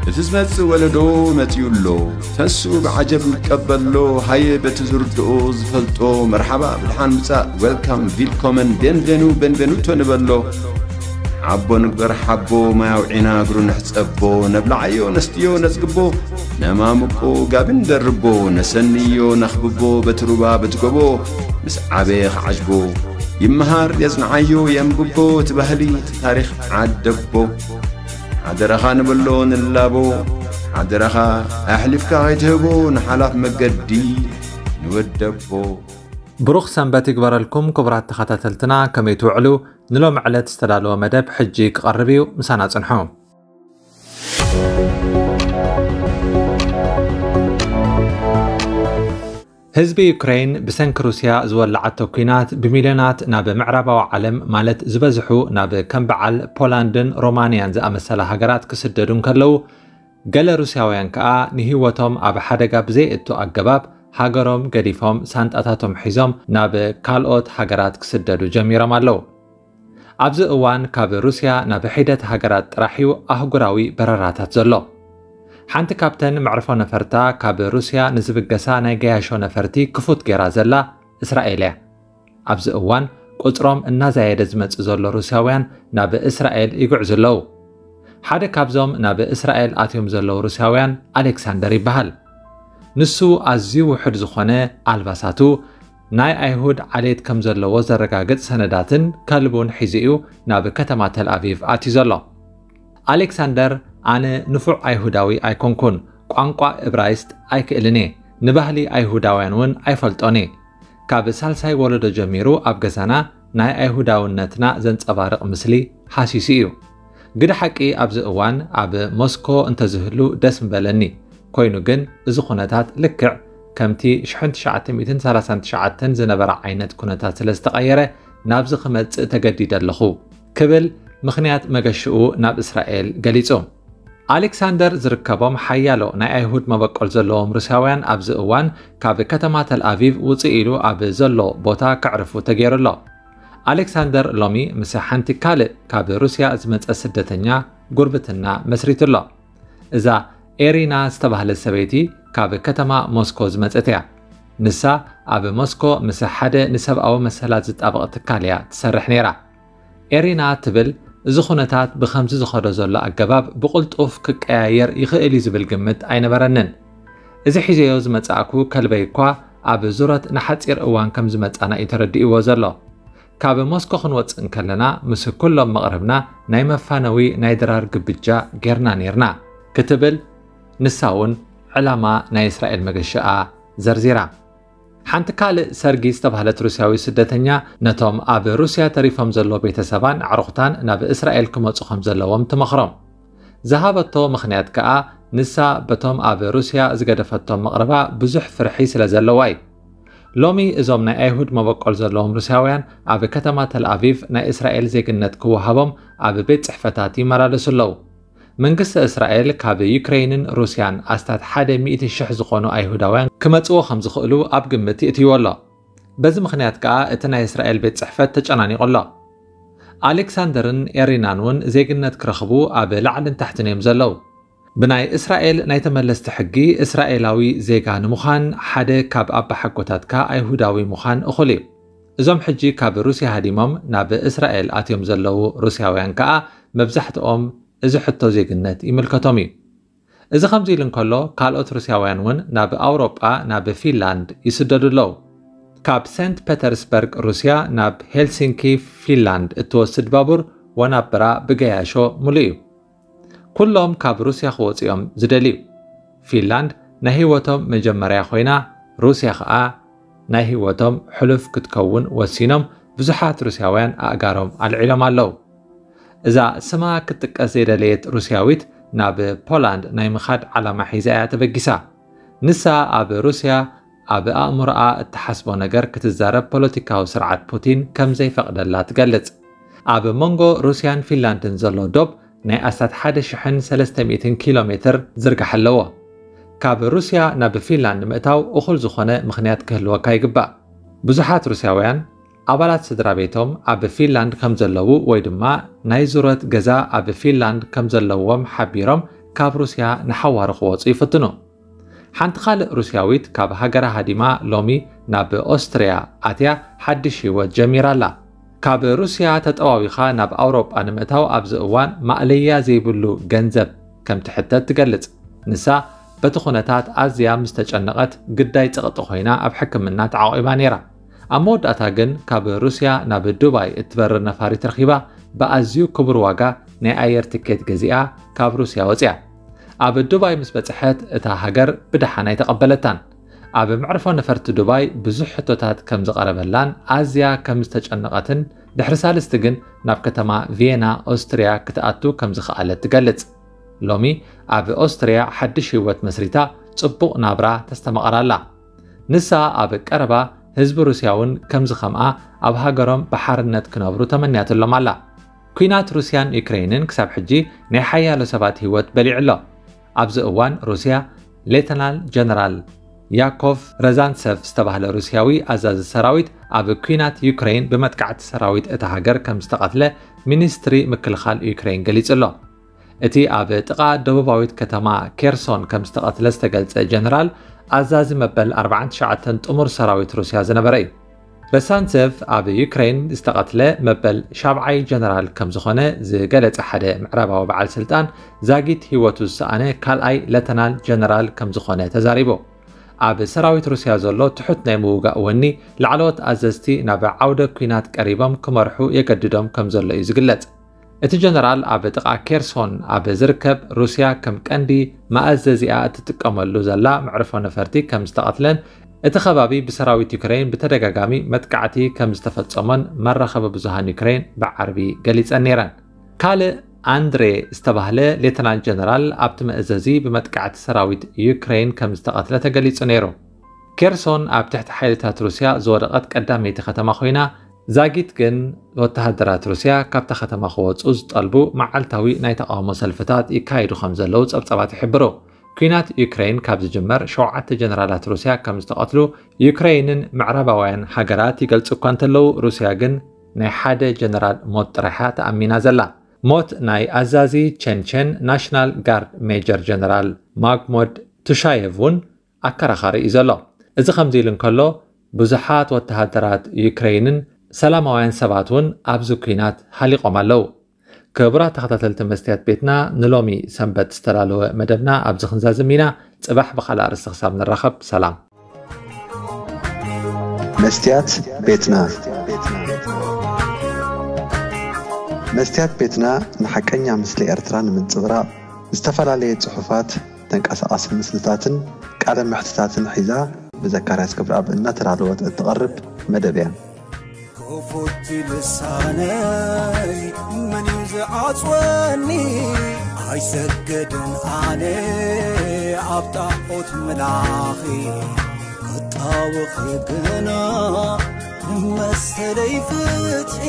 እቲ ዝመጽእ ወለዶ መጺኡ ኣሎ። ተንስኡ ብዓጀብ ንቀበሎ። ሃየ በቲ ዝርድኦ ዝፈልጦ መርሓባ ብድሓን ምጻእ፣ ዌልካም፣ ቪልኮመን፣ ቤንቬኑ፣ ቤንቬኑቶ ንበሎ። ሓቦ ንግበር ሓቦ፣ ማይ ኣውዒና እግሩ ንሕጸቦ። ነብልዓዮ ነስትዮ ነጽግቦ፣ ነማምቆ ጋቢ ንደርቦ። ነሰንዮ ነኽብቦ በቲ ሩባ በቲ ጎቦ። ምስ ዓበየ ክዓጅቦ ይመሃር የጽንዓዮ የንብቦ። እቲ ባህሊ እቲ ታሪኽ ዓደቦ። ሓደራኻ ንበሎ ንላቦ። ሓደራኻ ኣሕሊፍካ ከይትህቦ ንሓላፍ መገዲ ንወደቦ። ብሩኽ ሰንበት ይግበረልኩም ክቡራት ተኸታተልትና፣ ከመይ ትውዕሉ? ንሎሚ ዕለት ዝተዳለወ መደብ ሕጂ ክቐርብ እዩ፣ ምሳና ጽንሑ። ህዝቢ ዩክሬን ብሰንኪ ሩስያ ዝወላዓቶ ኲናት ብሚልዮናት ናብ ምዕራባዊ ዓለም፣ ማለት ዝበዝሑ ናብ ከም በዓል ፖላንድን ሮማንያን ዝኣመሰላ ሃገራት ክስደዱ እንከለዉ፣ ገለ ሩስያውያን ከኣ ንህይወቶም ኣብ ሓደጋ ብዘየእቱ ኣገባብ ሃገሮም ገዲፎም ሳንጣታቶም ሒዞም ናብ ካልኦት ሃገራት ክስደዱ ጀሚሮም ኣለዉ። ኣብዚ እዋን ካብ ሩስያ ናብ ሒደት ሃገራት ጥራሕ እዩ ኣህጉራዊ በረራታት ዘሎ። ሓንቲ ካብተን መዕርፎ ነፈርታ ካብ ሩስያ ንዝብገሳ ናይ ገያሾ ነፈርቲ ክፉት ጌራ ዘላ እስራኤል እያ። ኣብዚ እዋን ቁጽሮም እናዛየደ ዝመጽእ ዘሎ ሩስያውያን ናብ እስራኤል ይጉዕዙ ኣለዉ። ሓደ ካብዞም ናብ እስራኤል ኣትዮም ዘለዉ ሩስያውያን ኣሌክሳንደር ይበሃል። ንሱ ኣዝዩ ውሑድ ዝኾነ ኣልባሳቱ፣ ናይ ኣይሁድ ዓሌት ከም ዘለዎ ዘረጋግጽ ሰነዳትን ከልቡን ሒዙ እዩ ናብ ከተማ ተልኣቪቭ ኣትዩ ዘሎ። ኣሌክሳንደር፣ ኣነ ንፉዕ ኣይሁዳዊ ኣይኮንኩን፣ ቋንቋ እብራይስጥ ኣይክእልን እየ፣ ንባህሊ ኣይሁዳውያን እውን ኣይፈልጦን እየ። ካብ ሳልሳይ ወለዶ ጀሚሩ ኣብ ገዛና ናይ ኣይሁዳውነትና ዘንጸባርቕ ምስሊ ሃሲሱ እዩ። ግደ ሓቂ ኣብዚ እዋን ኣብ ሞስኮ እንተዝህሉ ደስ ምበለኒ። ኮይኑ ግን እዚ ኩነታት ልክዕ ከምቲ ሽሕን ትሽዓተ ሚእትን ሰላሳን ትሽዓተን ዝነበረ ዓይነት ኩነታት ስለ ዝተቐየረ ናብዚ ክመጽእ ተገዲደ ኣለኹ ክብል ምኽንያት መገሽኡ ናብ እስራኤል ገሊጹ። ኣሌክሳንደር ዝርከቦም ሓያሎ ናይ ኣይሁድ መበቆል ዘለዎም ሩስያውያን ኣብዚ እዋን ካብ ከተማ ተልኣቪቭ ውጽእ ኢሉ ኣብ ዘሎ ቦታ ከዕርፉ ተገይሩ ኣሎ። ኣሌክሳንደር ሎሚ ምስ ሓንቲ ካልእ ካብ ሩስያ ዝመጸ ስደተኛ ጉርብትና መስሪቱ ኣሎ። እዛ ኤሪና ዝተባህለት ሰበይቲ ካብ ከተማ ሞስኮ ዝመጸት እያ። ንሳ ኣብ ሞስኮ ምስ ሓደ ንሰብኣዊ መሰላት ዝጣበቕ ትካል እያ ትሰርሕ ነይራ። ኤሪና ትብል፣ እዚ ኩነታት ብኸምዚ ዝኸዶ ዘሎ ኣገባብ ብቕልጡፍ ክቀያየር ይኽእል እዩ ዝብል ግምት ኣይነበረንን። እዚ ሒዘዮ ዝመጻእኩ ከልበይ እኳ ኣብ ዙረት ንሓጺር እዋን ከም ዝመጻና እዩ ተረዲእዎ ዘሎ። ካብ ሞስኮ ክንወጽእ እንከለና ምስ ኩሎም መቕርብና ናይ መፋነዊ ናይ ድራር ግብጃ ጌርና ኔርና ክትብል ንሳ እውን ዕላማ ናይ እስራኤል መገሽኣ ዘርዚራ። ሓንቲ ካልእ ሰርጊ ዝተባህለት ሩስያዊ ስደተኛ ነቶም ኣብ ሩስያ ተሪፎም ዘሎ ቤተሰባን ኣዕሩኽታን ናብ እስራኤል ክመጹ ከም ዘለዎም ትመኽሮም። ዝሃበቶ ምኽንያት ከኣ ንሳ በቶም ኣብ ሩስያ ዝገደፈቶም መቕርባ ብዙሕ ፍርሒ ስለ ዘለዋ እዩ። ሎሚ እዞም ናይ ኣይሁድ መበቆል ዘለዎም ሩስያውያን ኣብ ከተማ ተልኣቪቭ ናይ እስራኤል ዜግነት ክወሃቦም ኣብ ቤት ጽሕፈታት ይመላለሱ ኣለዉ። መንግስቲ እስራኤል ካብ ዩክሬይንን ሩስያን ኣስታት ሓደ ሚእቲ ሽሕ ዝኾኑ ኣይሁዳውያን ክመጽዎ ከም ዝኽእሉ ኣብ ግምት ይእትይዎ ኣሎ። በዚ ምኽንያት ከኣ እቲ ናይ እስራኤል ቤት ጽሕፈት ተጨናኒቑ ኣሎ። ኣሌክሳንደርን ኤሪናን እውን ዜግነት ክረኽቡ ኣብ ላዕልን ታሕትን እዮም ዘለዉ። ብናይ እስራኤል ናይ ተመለስቲ ሕጊ እስራኤላዊ ዜጋ ንምዃን ሓደ ካብ ኣባሓጎታትካ ኣይሁዳዊ ምዃን እኹል እዩ። እዞም ሕጂ ካብ ሩስያ ሃዲሞም ናብ እስራኤል ኣትዮም ዘለዉ ሩስያውያን ከኣ መብዛሕትኦም እዚ ሕቶ ዜግነት ይምልከቶም እዩ። እዚ ከምዚ ኢሉ እንከሎ፣ ካልኦት ሩስያውያን እውን ናብ ኣውሮጳ፣ ናብ ፊንላንድ ይስደዱ ኣለዉ። ካብ ሴንት ፔተርስበርግ ሩስያ ናብ ሄልሲንኪ ፊንላንድ እትወስድ ባቡር ወናብራ ብገያሾ ምሉእ እዩ። ኩሎም ካብ ሩስያ ክወጹ እዮም ዝደልዩ። ፊንላንድ ናይ ህይወቶም መጀመርያ ኮይና፣ ሩስያ ኸኣ ናይ ህይወቶም ሕሉፍ ክትከውን ወሲኖም ብዙሓት ሩስያውያን ኣእጋሮም ኣልዒሎም ኣለዉ። እዛ ስማ ክትጥቀስ ዘይደለየት ሩስያዊት ናብ ፖላንድ ናይ ምኻድ ዓላማ ሒዛ እያ ተበጊሳ። ንሳ ኣብ ሩስያ ኣብ ኣእምሮኣ እትሓስቦ ነገር ክትዛረብ ፖለቲካዊ ስርዓት ፑቲን ከም ዘይፈቕደላ ትገልጽ። ኣብ መንጎ ሩስያን ፊንላንድን ዘሎ ዶብ ናይ ኣስታት ሓደ ሽሕን ሰለስተ ሚእትን ኪሎ ሜትር ዝርጋሕ ኣለዎ። ካብ ሩስያ ናብ ፊንላንድ ምእታው እኹል ዝኾነ ምኽንያት ክህልወካ ይግባእ። ብዙሓት ሩስያውያን ኣባላት ስድራ ቤቶም ኣብ ፊንላንድ ከም ዘለዉ ወይ ድማ ናይ ዙረት ገዛ ኣብ ፊንላንድ ከም ዘለዎም ሓቢሮም ካብ ሩስያ ንሓዋሩ ክወፁ ይፍትኑ። ሓንቲ ካልእ ሩስያዊት ካብ ሃገራ ሃዲማ ሎሚ ናብ ኦስትርያ ኣትያ ሓድሽ ህይወት ጀሚራ ኣላ። ካብ ሩስያ ተጠዋዊኻ ናብ ኣውሮጳ ንምእታው ኣብዚ እዋን ማእለያ ዘይብሉ ገንዘብ ከም ትሕተት ትገልጽ። ንሳ በቲ ኩነታት ኣዝያ ምስ ተጨነቐት ግዳይ ጸቕጢ ኮይና ኣብ ሕክምና ተዓቒባ ነይራ። ኣብ መወዳእታ ግን ካብ ሩስያ ናብ ዱባይ እትበርር ነፋሪት ረኺባ ብኣዝዩ ክቡር ዋጋ ናይ ኣየር ትኬት ገዚኣ ካብ ሩስያ ወጽያ። ኣብ ዱባይ ምስ በጽሐት እታ ሃገር ብደሓን ኣይተቐበለታን። ኣብ መዕርፎ ነፈርቲ ዱባይ ብዙሕ ሕቶታት ከም ዝቐረበላን ኣዝያ ከም ዝተጨነቐትን ድሕሪ ሳልስቲ ግን ናብ ከተማ ቪየና ኦስትርያ ክትኣቱ ከም ዝኸኣለት ትገልጽ። ሎሚ ኣብ ኦስትርያ ሓድሽ ህይወት መስሪታ ጽቡቕ ናብራ ተስተማቕር ኣላ። ንሳ ኣብ ቀረባ ህዝቢ ሩስያ እውን ከምዚ ከምኣ ኣብ ሃገሮም ብሓርነት ክነብሩ ተመንያትሎም ኣላ። ኲናት ሩስያን ዩክሬንን ክሳብ ሕጂ ናይ ሓያሎ ሰባት ህይወት በሊዑ ኣሎ። ኣብዚ እዋን ሩስያ ሌተናል ጀነራል ያኮቭ ረዛንሰቭ ዝተባህለ ሩስያዊ ኣዛዚ ሰራዊት ኣብ ኲናት ዩክሬን ብመጥቃዕቲ ሰራዊት እታ ሃገር ከም ዝተቐትለ ሚኒስትሪ ምክልኻል ዩክሬን ገሊጹ ኣሎ። እቲ ኣብ ጥቓ ደቡባዊት ከተማ ኬርሶን ከም ዝተቐትለ ዝተገልጸ ጀነራል ኣዛዚ መበል ኣርባዓን ትሽዓተን ጥሙር ሰራዊት ሩስያ ዝነበረ እዩ። ረሳንሰቭ ኣብ ዩክሬን ዝተቐትለ መበል ሻብዓይ ጀነራል ከም ዝኾነ ዝገለጸ ሓደ ምዕራባዊ በዓል ስልጣን ዛጊት ህይወቱ ዝሰኣነ ካልኣይ ለተናል ጀነራል ከም ዝኾነ ተዛሪቡ። ኣብ ሰራዊት ሩስያ ዘሎ ትሑት ናይ ምውጋእ ወኒ ላዕለዎት ኣዘዝቲ ናብ ዓውደ ኲናት ቀሪቦም ክመርሑ የገድዶም ከም ዘሎ እዩ ዝግለጽ። እቲ ጀነራል ኣብ ጥቓ ኬርሶን ኣብ ዝርከብ ሩስያ ከም ቀንዲ መኣዘዚኣ እትጥቀመሉ ዘላ መዕርፎ ነፈርቲ ከም ዝተቐትለን እቲ ከባቢ ብሰራዊት ዩክሬን ብተደጋጋሚ መጥቃዕቲ ከም ዝተፈጸሞን መራኸቢ ብዙሃን ዩክሬን ብዓርቢ ገሊጸን ነይረን። ካልእ ኣንድሬ ዝተባህለ ሌተናል ጀነራል ኣብቲ መእዘዚ ብመጥቃዕቲ ሰራዊት ዩክሬን ከም ዝተቐትለ ተገሊጹ ነይሩ። ኬርሶን ኣብ ትሕቲ ሓይልታት ሩስያ ዝወደቐት ቀዳመይቲ ከተማ ኮይና፣ ዛጊት ግን ወተሃደራት ሩስያ ካብታ ከተማ ክወጹ ዝጠልቡ መዓልታዊ ናይ ተቓውሞ ሰልፍታት ይካየዱ ከም ዘለዉ ጸብጻባት ይሕብሩ። ኲናት ዩክሬን ካብ ዝጅመር ሸውዓተ ጀነራላት ሩስያ ከም ዝተቐትሉ ዩክሬንን ምዕራባውያን ሃገራት ይገልጹ እኳ እንተለዉ፣ ሩስያ ግን ናይ ሓደ ጀነራል ሞት ጥራይ እያ ተኣሚና ዘላ። ሞት ናይ ኣዛዚ ቸንቸን ናሽናል ጋርድ ሜጀር ጀነራል ማግሞድ ቱሻየቭ እውን ኣከራኻሪ እዩ ዘሎ። እዚ ከምዚ ኢሉ እንከሎ፣ ብዙሓት ወተሃደራት ዩክሬንን ሰላማውያን ሰባት እውን ኣብዚ ኲናት ሃሊቖም ኣለዉ። ክቡራት ተኸታተልቲ መስትያት ቤትና፣ ንሎሚ ሰንበት ዝተዳለወ መደብና ኣብዚ ክንዛዝም ኢና። ጽባሕ ብኻልእ ኣርእስቲ ክሳብ ንራኸብ፣ ሰላም። መስትያት ቤትና። መስትያት ቤትና ንሓቀኛ ምስሊ ኤርትራ ንምንጽብራቕ ዝተፈላለየ ጽሑፋት፣ ተንቀሳቓሲ ምስልታትን ቃለ መሕትታትን ሒዛ ብዘካርያስ ገብረኣብ እናተዳለወት እትቐርብ መደብ እያ። ክፉት ልሳነይ መን እዩ ዝዓጽወኒ? ኣይሰግድን ኣነ ኣብ ጣዖት ምላኺ፣ ክጣወኺ ግና መሰለይ ፍትሒ።